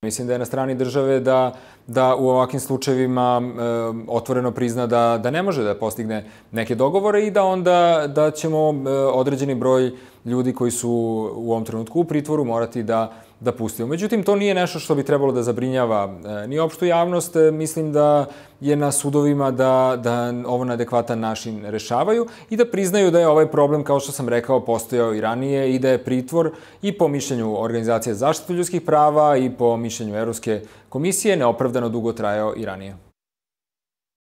Mislim da je na strani države da u ovakvim slučajevima otvoreno prizna da ne može da postigne neke dogovore i da onda da ćemo određeni broj ljudi koji su u ovom trenutku u pritvoru morati da pustimo. Međutim, to nije nešto što bi trebalo da zabrinjava ni opštu javnost. Mislim da je na sudovima da ovo na adekvatan način rešavaju i da priznaju da je ovaj problem, kao što sam rekao, postojao i ranije i da je pritvor i po mišljenju Organizacije za zaštitu ljudskih prava i po mišljenju Evropske komisije neopravdano dugo trajao i ranije.